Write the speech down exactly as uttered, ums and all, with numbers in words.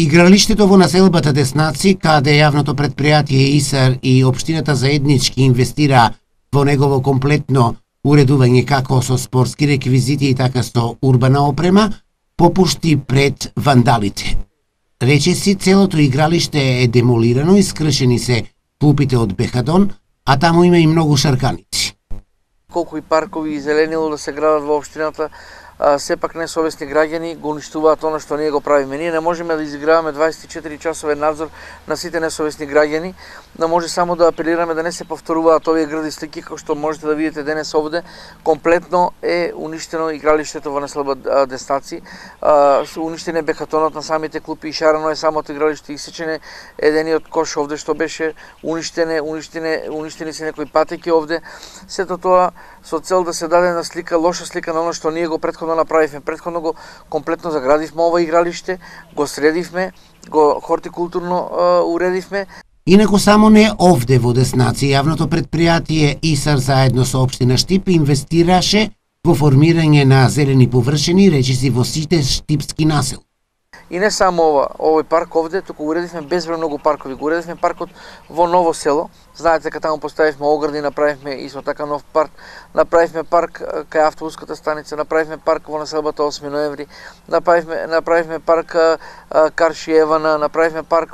Игралиштето во населбата Деснаци, каде јавното предпријатие ИСАР и општината заеднички инвестира во негово комплетно уредување како со спортски реквизити и така со урбана опрема, попушти пред вандалите. Речиси, целото игралиште е демолирано и скршени се клупите од бехадон, а таму има и многу шарканици. Колку и паркови и зеленило да се градат во општината, а, сепак несовесни граѓани го уништуваат она што ние го правиме. Ние не можеме да изиграваме дваесет и четири часовен надзор на сите несовесни граѓани, да може само да апелираме да не се повторуваат овие гради слики, како што можете да видите денес овде. Комплетно е уништено игралиштето во населба Деснаци, уништен е бехатонот на самите клупи и шарано е самото игралиште, исечене едениот кош овде што беше уништене, уништене, уништени се некои патеки овде. Сето тоа со цел да се даде на слика, лоша слика на оно што ние го претходно направивме. Претходно го комплетно заградивме ова игралиште, го средивме, го хортикултурно а, уредивме. Инаку само не овде во Деснаци, јавното предпријатие ИСАР заедно со општина Штип инвестираше во формирање на зелени површини, речиси во сите штипски насел. И не само ова, овој парк овде, туку уредивме безброј многу паркови. Го уредивме паркот во Ново село. Знаете дека таму поставивме огради, направивме исто така нов парк, направивме парк кај автобуската станица, направивме парк во населбата осми ноември, направивме направивме парк Карши Евана, направивме парк